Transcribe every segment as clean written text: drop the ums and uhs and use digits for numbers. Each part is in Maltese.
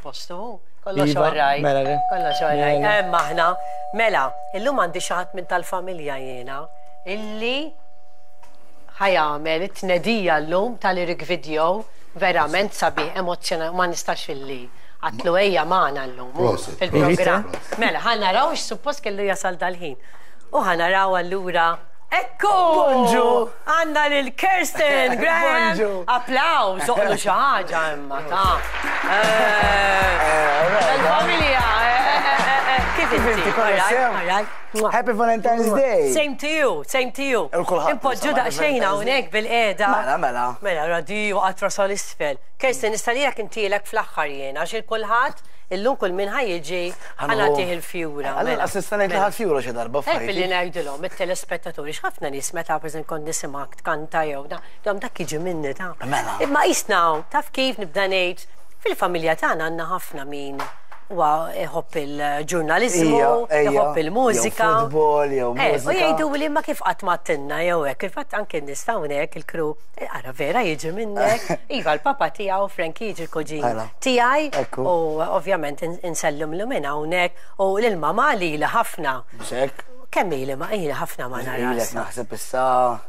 postu. Kollox Iva, all right. mela le. Kollox all right. Mela. Hemm aħna. Mela, illum għandi xi ħadd minn tal-familja jiena illi ħa jagħmel it-tnedija llum tal-lyric video verament sabiħ, emozzjonali, ma nistax illi għedtlu ejja magħna llum Prosit, fil-programm. prosit. Mela, ħa naraw x'suppost kellu jasal dal-ħin. U ħa naraw allura. Ekku! Bonġu! Għandna lil Kirsten Graham! Bonġu! Applaws, oqlu xi ħaġa imma ta' Il-familja, kif Kif inti? inti, kollox All right, sew? all right. Mwah. Happy Valentine's Day! Same to you, same to you. Il kulħadd, Impoġġu insomma, daqsxejn Happy Valentine's hawnhekk bil-qiegħda. Mela, mela. Mela, radi waqgħet rasha l-isfel. Kirsten, nistalijak intilek fl-aħħar jiena, għax il-kulħadd illum kull min ħa jiġi ħa nagħtih il-fjura. Għalla, mela. assista ngħid Mela. ħadd fjura xi darba Hekk billi f'ħajti. ngħidilhom it-telespettaturi x'ħafna nies meta pereżempju kont nisimgħek tkanta jew da, dom dak jiġi minni ta' Mela. Imma qisna taf kif nibda ngħid fil-familja tagħna għandna ħafna min huwa iħobb il-ġurnaliżmu, Ija, ejja. iħobb il-mużika. Jew futbol, jew Eh, U mużika. jgħidu li ma kif qatt ma tinna jew hekk, il-fatt anke n-nies hawnhekk il-crew, ara vera jiġi minnek. Iva l-papa tiegħu Frankie jiġi l-kuġin Mela. tiegħi Ekku. u ovvjament insellimlu minn hawnhekk u lil mamà li ħafna. Xek, Kemm ili ma ili ħafna ma ilek naras. naħseb issa,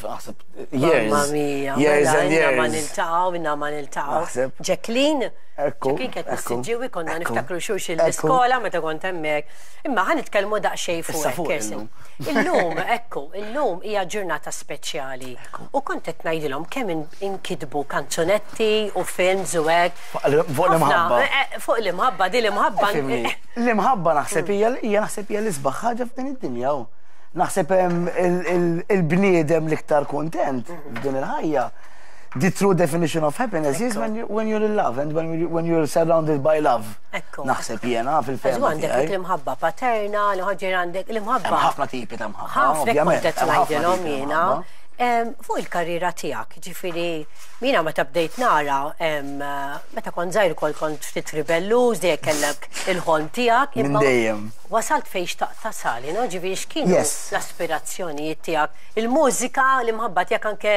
naħseb years. Mamma mia, Years mela, and inna ma years. niltaqgħu, inna ma niltaqgħu. Naħseb. Jacqueline, Ekku, Jacqueline kienet ekku, missiġġiwi konna ekku, niftakru xulxin ekku. l-iskola meta kont hemmhekk. Imma ħa nitkellmu daqsxejn fuq Issa hekk, fuq Kirsten. Illum, ekku, illum hija ġurnata speċjali. U kont qed ngħidilhom kemm inkitbu kanzunetti u films u hekk. Fuq l-imħabba. Ħafna, Fuq l-imħabba, di l-imħabba. Fimni, L-imħabba naħseb hija hija naħseb hija l-isbaħ ħaġa f'din id-dinja. hu. Naħseb il-bniedem l-iktar kontent f'din il-ħajja. The true definition of happiness is when, you, when you're in love and when, you, when you're surrounded by love. Ekku. Naħseb jiena Għax fil-fehma għandek tiegħi. l-imħabba paterna, l-ħaġir għandek l-imħabba. Hemm ħafna tipi ta' mħabba. ħafna ovvjament, kont qed hemm ħafna ngħidilhom tipi ta' jiena. mħabba. Fuq il-karriera tiegħek, ġifieri mina meta bdejt nara, meta kont żgħir ukoll kont ftit ribelluż, dejjem kellek il-ħolm tiegħek. Minn imma dejjem. Wasalt fejn xtaqt tasal, no? Ġifieri x'kienu l-aspirazzjonijiet tiegħek, il-mużika, l-imħabba tiegħek anke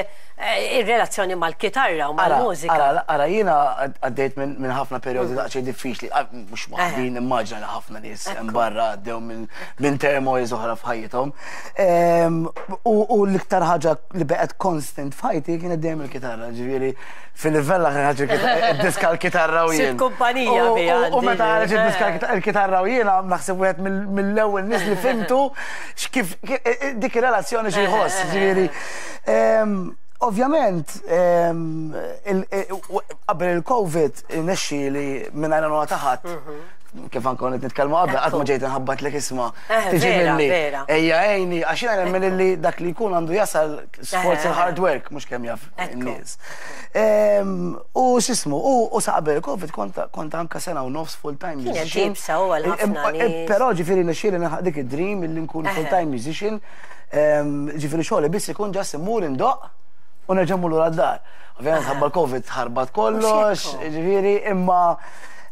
ir-relazzjoni mal-kitarra u Ara, mal-mużika. ara, ara, jiena għaddejt minn ħafna perjodi daqsxejn diffiċli, ah, mhux waħdi, nimmaġina li ħafna nies hemm barra għaddew minn turmoils oħra f'ħajjithom. U l-iktar ħaġa li baqgħet constant f'ħajti kienet dejjem il-kitarra, ġifieri fil-livell ħaġa diska l-kitarra u jien. Sibt kumpanija biha U meta għandi. ħareġ id-diska l-kitarra u jiena naħseb wieħed mill-ewwel nies li fimtu x'kif dik ir-relazzjoni xi jħoss, ġifieri. Ovvjament, qabel il-Covid, nexxi li minn għajna nuna taħat, kif anke kont nitkellmu qabel, qatt ma ġejt nħabbat lek isma' tiġi minni. vera. Ejja għejni, għax jiena nemmen li dak li jkun għandu jasal sforz il-hard work, mhux kemm jaf in-nies. U x'ismu, u sa qabel il-Covid kont anka sena u nofs full-time Kienet musician. iebsa u għal ħafna nies. Però ġifieri nexxieli nilħaq dik id-dream illi nkun full-time musician. Ġifieri xogħli biss ikun just immur indoqq u nerġa' mmur lura d-dar. Ovvjament ħabba l-Covid ħarbat kollox, Mhux hekk. ġifieri imma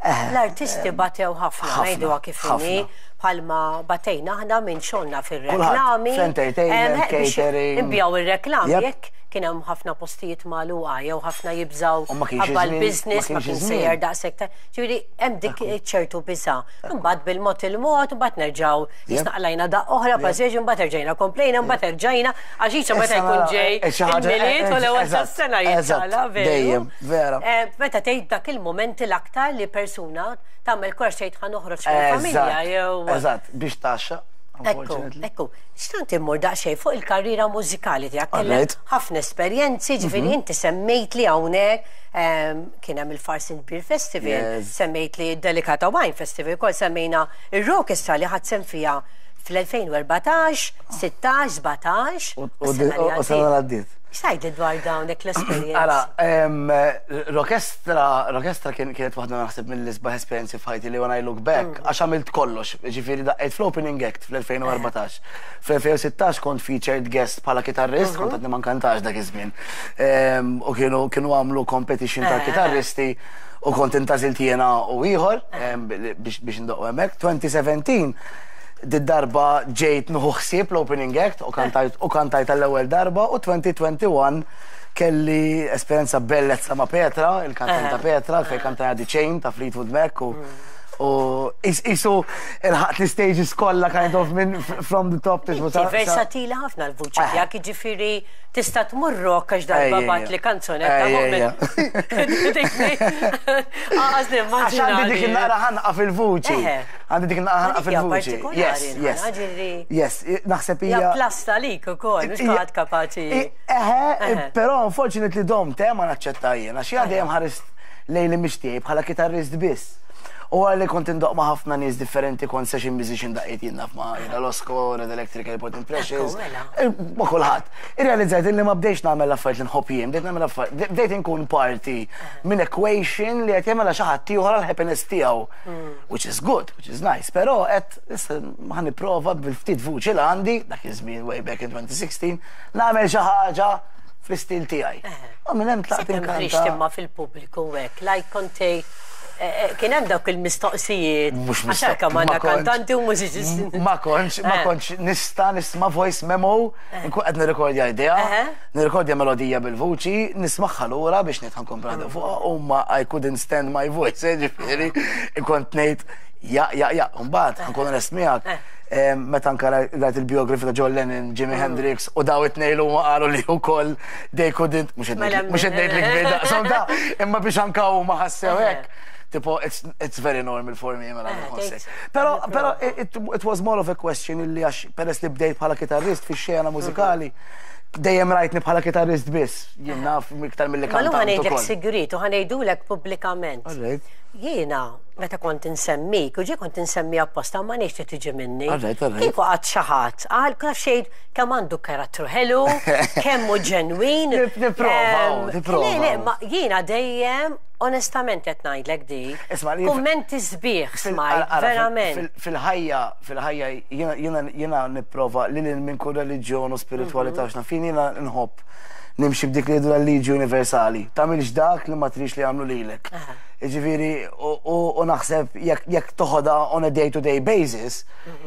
L-artisti batew ħafna, ħafna, ngħiduha kif inhi, ħafna. bħalma batejna aħna minn xogħolna fir-reklami. Fl-entertainment, Biex catering. Inbiegħu ir-reklami Yep. jekk kien hemm ħafna postijiet magħluqa jew ħafna jibżaw U ma kienx ħabba iż-żmien, l-business ma ma kienx kien iż-żmien. sejjer daqshekk ta' ġifieri hemm dik ċertu biża'. Imbagħad bil-mod il-mod, imbagħad nerġgħu jisnaqlajna daqq oħra, pażeġ, imbagħad erġajna komplejna, imbagħad erġajna għax jiġu meta Issa jkun nara, ġej xi ħaġa, il-Milied u l-ewwel tas-sena jiċċala, veru. Dejjem, vera. Meta tgħid dak il-moment l-aktar li persuna tagħmel kors tgħid ħa noħroġ mill-familja jew Eżatt, biex taxxa. Ekku, unfortunately. ekku. Xtant immur daqsxejn fuq il-karriera mużikali tiegħek kellek Alright. ħafna esperjenzi, ġifieri inti semmejt li hawnhekk kien hemm il-Farsin Beer Festival, semmejt li Delicata Wine Festival, ukoll semmejna ir-Rockestra li ħadd sem fiha fl-2014, 16, 17. U sena l-għaddiet. X'tgħidli dwar dawn l-esperjenzi? Ara, Rockestra kienet waħda naħseb mill-isbaħ esperjenzi f'ħajti li when I look back, għax għamilt kollox, ġifieri daqqejt fl-opening act fl-2014. Fl-2016 kont featured guest bħala kitarrist, kont għadni ma nkantax dak iż-żmien. U kienu għamlu competition ta' kitarristi u kont intgħażilt jiena u ieħor biex ndoqqu hemmhekk. 2017 did-darba ġejt nieħu ħsieb l-opening act u kantajt għall-ewwel darba u 2021 Kelli esperjenza bellezza ma' Petra, il-kantanta Petra, fejn kantajna The Chain ta' Fleetwood Mac u u qisu ilħaqt l-istages kollha kind of minn from the top to Inti versatili ħafna l-vuċi tiegħek, jiġifieri tista' tmur rock għax darba bagħatli kanzunetta Għax nimmaġina. Għandi dik in-naqra ħanqa fil-vuċi. Għandi dik in-naqra ħanqa fil-vuċi. Yes, yes. Yes, naħseb hija. Hija plus talik ukoll, mhux kulħadd kapaċi. Eħe, però unfortunately domt eh ma naċċetta jien, għax jiena dejjem ħarist lejn l-image tiegħi bħala kitarrist biss. U wara li kont indoqq ma' ħafna nies differenti, kont session musician daqqejt jien naf ma' Ira Losco, Red Electric, Airport Impressions, ma' kulħadd. Irrealizzajt li ma bdejtx nagħmel l-affarijiet li nħobb jien, bdejt nagħmel affarijiet, bdejt inkun parti minn equation li qed jagħmilha xi ħadd ieħor għall-happiness tiegħu. Which is good, which is nice, però qed issa ħa nipprova bil-ftit vuċi li għandi, dak iż-żmien way back in 2016, nagħmel xi ħaġa fl-istil tiegħi. U minn hemm tlaqt inkanta. Sakemm imma fil-pubbliku hekk, like kont tgħid kien hemm dawk il-mistoqsijiet. Mhux Għax hekk għandna kantanti u mużiċisti. Ma kontx, ma kontx nista' nisma' voice memo, nkun qed nirrekordja idea, nirrekordja melodija bil-vuċi, nismagħha lura biex ngħid ħa nkompli naħdem fuqha u ma I couldn't stand my voice, ġifieri, kont ngħid ja, ja, ja, mbagħad ħa nkun onest miegħek. Meta anka rajt il-biografi ta' John Lennon, Jimi Hendrix u daw it-tnejn huma qalu li wkoll they couldn't, mhux qed ngħid li kbir daqshom ta' imma biex anka huma ħassew hekk. Tipo, it's, it's very normal for me, mela nħossek. Pero, pero it, it was more of a question illi għax peress li bdejt bħala kitarrist fix-xena mużikali, dejjem rajtni bħala kitarrist biss, jien naf iktar milli kantant. Ma ħa ngħidlek sigriet u ħa ngħidulek pubblikament. Jiena meta kont insemmik, u ġie kont insemmi apposta ma ngħidx li tiġi minni. Kieku qatt xi ħadd qal kif xejn kemm għandu karattru ħelu, kemm hu ġenwin. Nipprova, nipprova. Le, le, ma jiena dejjem onestament qed ngħidlek di. Kummenti sbieħ smajt, verament. Fil-ħajja, fil-ħajja jiena nipprova lil hinn minn kull reliġjon u spiritwalità x'naf jien jiena nħobb nimxi b'dik li jgħidu l-liġi universali. Tagħmilx dak li ma tridx li jagħmlu lilek. Jiġifieri u naħseb jekk toħodha on a day to day basis,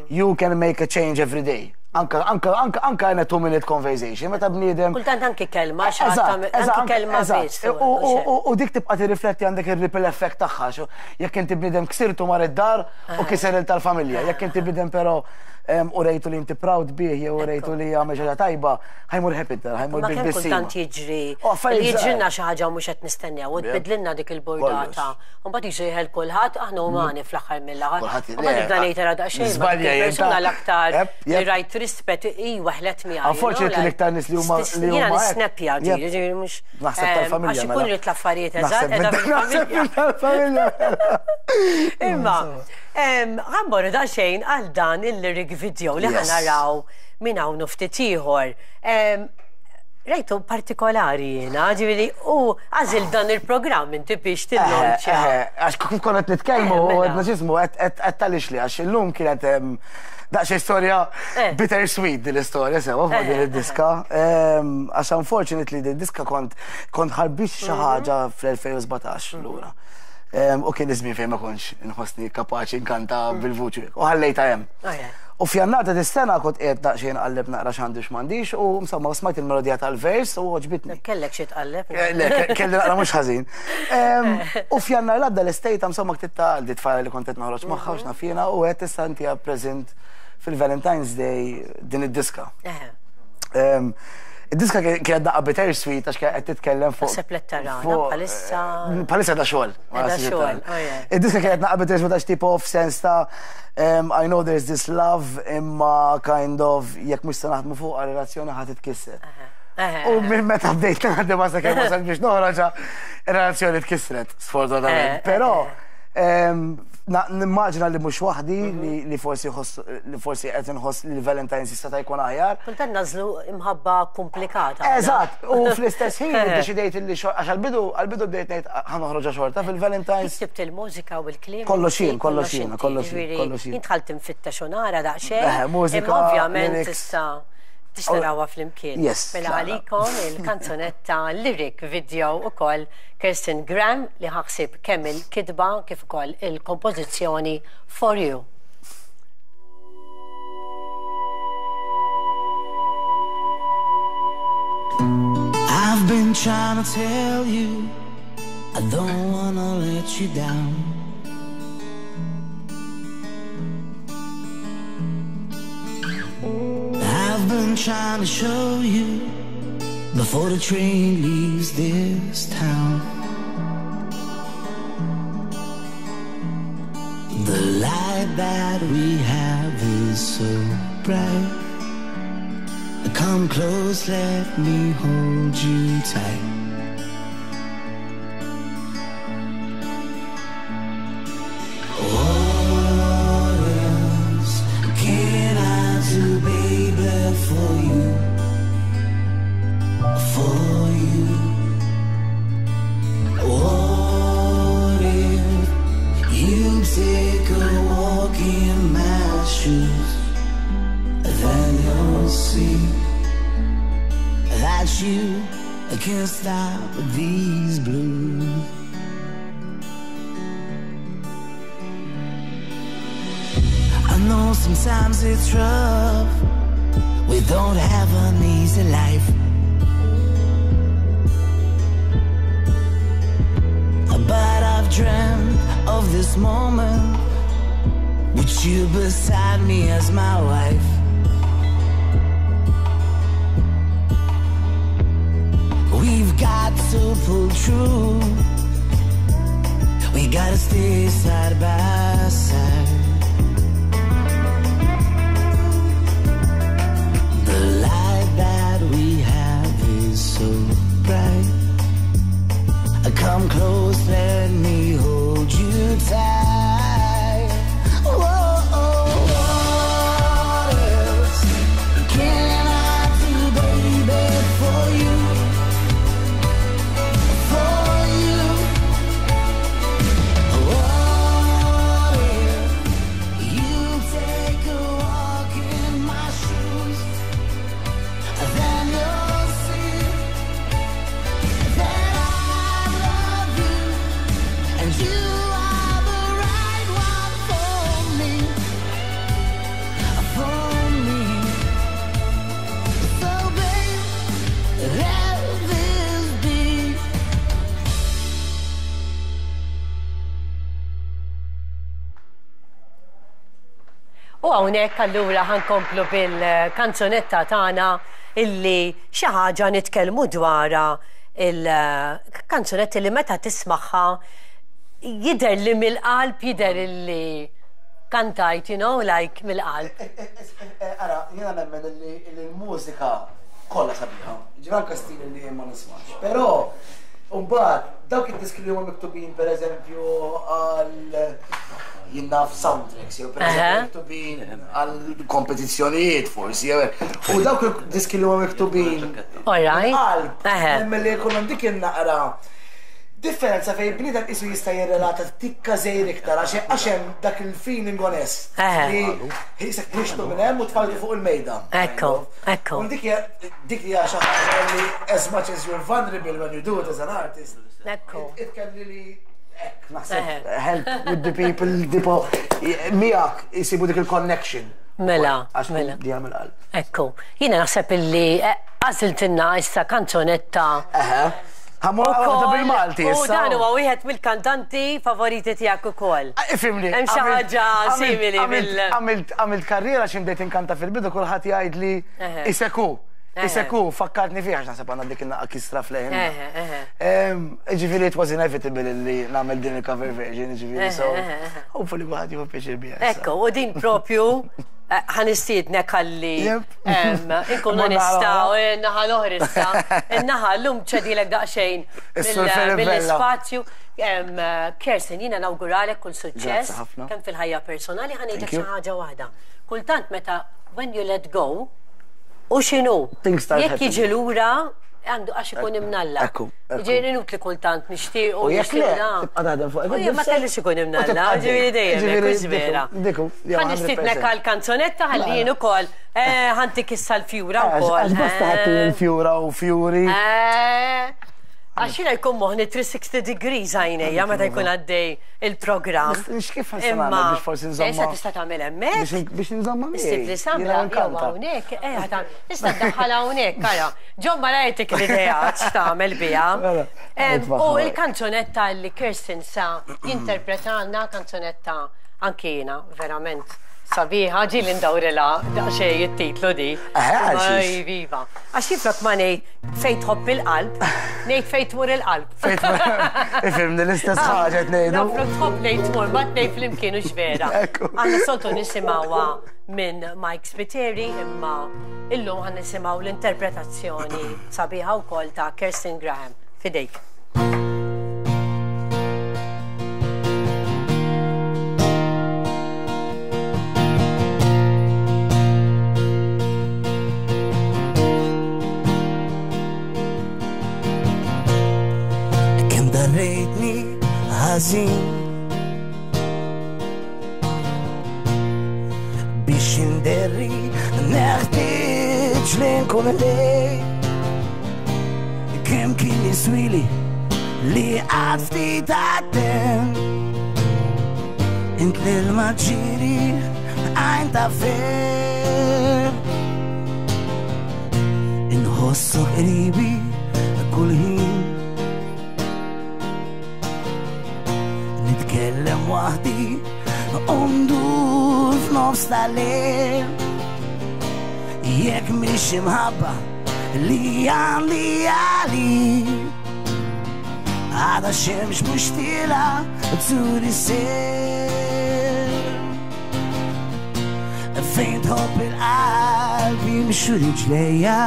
you can make a change every day. Anka, anka, anka, anka in a two minute conversation, meta bniedem. Kultant anki kelma, anki kelma biss. U dik tibqa' tirrifletti għandek ir-ripple effect tagħha. Jekk inti bniedem ksirtu mar id-dar u kiser il tal-familja. Jekk inti bniedem però u rejtu li inti proud bih jew rejtu li għamel xi ħaġa tajba, ħa jmur happy d-dar, ħa jmur bil-tbissima. Ma kemm kultant jiġri li jiġrilna xi ħaġa u mhux qed nistennew u tbiddlilna dik il-burdata. U mbagħad jiġu jeħel kulħadd, aħna umani fl-aħħar mill-aħħar. U mbagħad nibda ngħid ara daqsxejn. Żbalja jien. Persuna l-aktar li rajt rispett hi weħlet miegħi. Unfortunately l-iktar nies li huma li huma. Jiena nisnepja ġieli, mhux. Naħseb tal-familja. Għax ikun ridt l-affarijiet eżatt, qiegħda fil-familja. Imma, ħa mmorru daqsxejn għal dan il-lyric video li ħa naraw minn hawn u ftit ieħor. Rajtu partikolari jiena, ġifieri u għażilt dan il-programm inti biex tillonċja. Għax kif konna qed nitkellmu u għedna x'ismu qed tgħaliex li għax illum kienet daqsxejn storja bitter sweet din l-istorja sewwa fuq din id-diska. Għax unfortunately din id-diska kont kont ħarbixt xi ħaġa fl-2017 lura. U kien iż-żmien fejn ma kontx inħossni kapaċi nkanta bil-vuċi u ħallejtha hemm. U f'Jannar ta' dis-sena kont qiegħed daqsxejn nqalleb naqra x'għandi u x'm'għandix u insomma smajt il-melodija tal-vers u għoġbitni. Kellek xi tqalleb? Le, kelli naqra mhux ħażin. U f'Jannar l-għadda l-istejta insomma ktibtha għal di tfajla li kont qed noħroġ magħha u x'naf jiena u għedt issa intiha present fil-Valentine's Day din id-diska. Id-diska kienet daqqa bittersweet għax kienet qed titkellem fuq. Naħseb li tarana bħalissa. Bħalissa da xogħol. Da xogħol, oh Id-diska kienet daqqa bittersweet għax tipo f'sens ta' I know there's this love imma kind of jekk mhux se naħdmu fuqha relazzjoni ħa titkisser. U minn meta bdejt naħdem sa kemm wasalt biex noħroġha, ir-relazzjoni tkissret, sfortunatament. Però nimmaġina li mhux waħdi li forsi li forsi qed inħoss li l-Valentine's jista' ta' jkun aħjar. Kultant nagħżlu imħabba komplikata. Eżatt, u fl-istess ħin iddeċidejt li għax għall-bidu għall-bidu bdejt ngħid ħa noħroġha xorta fil-Valentine's. Ktibt il-mużika u l-kliem. Kollox jien, kollox jien, kollox jien, kollox jien. Jien dħalt infittex u nara daqsxejn. Eħe, mużika. Imma ovvjament issa biex narawha flimkien. Yes. Mela għalikom il-kanzunetta lyric video ukoll Kirsten Graham li ħa ħsieb kemm il-kitba kif ukoll il-kompożizzjoni For You. I've been. been trying to tell you I don't wanna let you down. I've been trying to show you before the train leaves this town. The light that we have is so bright. Come close, let me hold you tight. What else can I do, baby, for you? For you. What if you take a walk in my shoes? Then you'll see that you can't stop these blues. I know sometimes it's rough. We don't have an easy life. But I've dreamt of this moment with you beside me as my wife. We've got to pull through. We gotta stay side by side. The light that we have is so bright. Come close, let me hold you tight. Whoa, what else can I do, baby, for you? For you. What if you take a walk in my shoes? Then you'll see that I love you, and you are the right one for me, for me. So babe, let this be. U hawnhekk allura ħa nkomplu bil-kanzunetta tagħna illi xi ħaġa nitkellmu dwarha il-kanzunetta li meta tismagħha jidher li mill-qalb jidher illi kantajt, you know, like mill-qalb. Ara, jiena nemmen li l-mużika kollha sabiħa. Ġifieri anke stil li jien ma nismax. Però mbagħad dawk id-diski li huma miktubin pereżempju għal jien naf soundtracks, jew pereżempju miktubin għal kompetizzjonijiet forsi, jew hekk. U dawk id-diski li huma miktubin qalb, nemmen li jkollhom dik in-naqra differenza fejn bniedem isu jista' jirrelata tikka żejr iktar għax hemm dak il-feeling onest li jisek ħriġtu minn hemm u tfajtu fuq il-mejda. Ekku, ekku. U dik hija dik hija xi ħaġa li as much as you're vulnerable when you do it as an artist, it can really hekk naħseb help with the people tipo miegħek isibu dik il-connection. Mela, Għax mela. dija mill-qalb. Ekku. Jiena naħseb illi għażiltilna issa kanzunetta. Eħe. Ħa mmur waħda bil-Malti U issa. dan huwa wieħed mill-kantanti favoriti tiegħek ukoll. Ifhimni. Hemm xi ħaġa simili bil- Għamilt karriera xi bdejt inkanta fil-bidu kulħadd jgħid li iseku. Iseku, fakkartni fih għax naħseb għandna dik in-naqqa kisra fl-leħen. Ġifieri it was inevitable li nagħmel din il-cover version, ġifieri so. Hopefully kulħadd jieħu pjaċir biha. Ekku, u din propju ħa nistiednek ħalli inkunu nistgħu naħa l-oħra issa. In-naħa llum ċedilek daqsxejn mill-ispazju. Kersten, jiena nawguralek kull suċċess kemm fil-ħajja personali ħa ngħidlek xi ħaġa waħda. Kultant meta when you let go, u x'inhu? Jekk jiġi lura għandu għax ikun imnalla. Ġifieri inutli kultant nixtiequ. U jekk le, tibqa' taħdem fuq. U ma kellix ikun imnalla, ġifieri dejjem hekk vera. Ħa nistiednek għal kanzunetta ħalli jien ukoll ħantik issa l-fjura wkoll. Għax basta ħadd il-fjura u fjuri. Għax jiena jkun moħni 360 degrees għajnejja meta jkun għaddej il-programm. Nix kif nista' nagħmel biex forsi nżomma. Issa tista' tagħmel hemmhekk. Biex nżomma miegħi. Issib li samra jew hawnhekk, eh tista' ddaħħal hawnhekk, ara. Ġon ma rajtek l-idea x'tagħmel biha. Mela, U l-kanzunetta li Kirsten sa jinterpretalna kanzunetta anki jiena verament sabiħa ġieli ndawrilha daqsxejn it-titlu di. Iva. Għax jiflok ma ngħid fejn tħobb il-qalb, ngħid fejn tmur il-qalb. Ifhimni l-istess ħaġa qed ngħidu. Flok tħobb ngħid tmur, ma tnejn flimkien u vera. Għandna soltu nisimgħuha minn Mike Spiteri imma illum ħan nisimgħu l-interpretazzjoni sabiħa wkoll ta' Kirsten Graham. Fidejk. Kemm darrejtni ħażin biex inderri neħtieġ li nkun lejk. Kemm kien jiswili li għad ftit attent Int l-ilma ġiri għajn ta' fejn Inħossok qribi kull ħin Nitkellem waħdi u ndur f'nofs tal-lejl Jekk mhix imħabba li għandi għalik Għada xemx mhux tila turi sir Fejn tħobb il-qalb jimxu riġlejja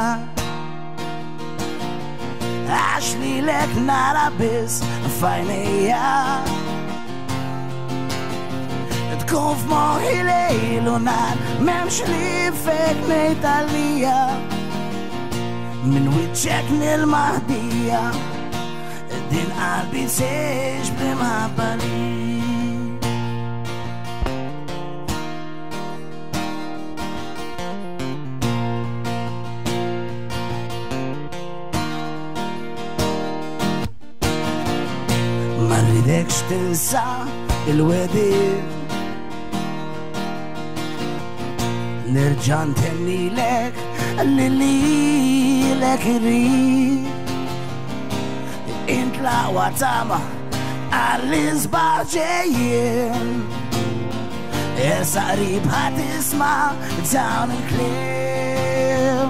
Għax lilek nara biss f'għajnejja Tkun f'moħħi lejl u nhar m'hemmx li fejk ngħid għalija Minn wiċċek nil-maħdija Din qalbi tgħix bl-imħabba lik Ma rridekx tinsa il-wedid Nerġa' ntennilek li lilek irrid Int l-aqwa tama għall-isbaħ ġejjin Issa qrib ħa tisma' dawn il-kliem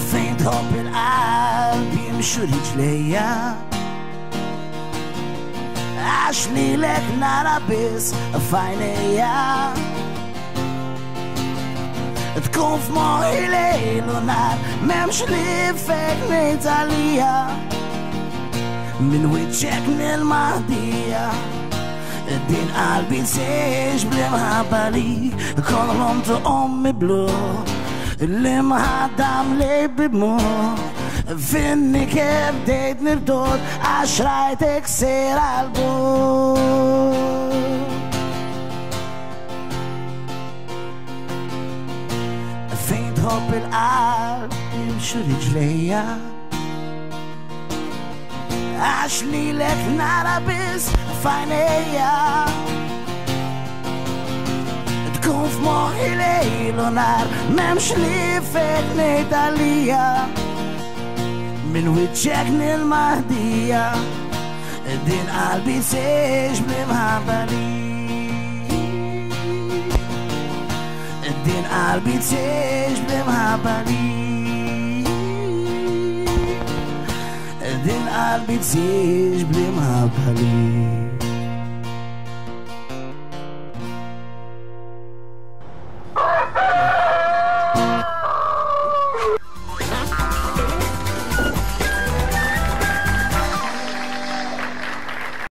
Fejn tħobb il-qalb jimxu riġlejja Għax lilek nara biss f'għajnejja Tkun f'moħħi lejl u nhar m'hemmx li fejk ngħid għalija Minn wiċċek nil-maħdija Din qalbi tgħix bl-imħabba li Kollhom ommi blu L-imħadda mlej bidmu Finni kif bdejt nirdod għax rajtek sejra għal-bur Fejn tħobb il-qalb jimxu riġlejja Għax lilek nara biss f'għajnejja Tkun f'moħħi lejl u nhar m'hemmx li fejk ngħid għalija Minn wiċċek nil-maħdija Din qalbi tgħix bl-imħabba lik Din qalbi tgħix bl-imħabba lik Din qalbi tgħix bl-imħabba lik.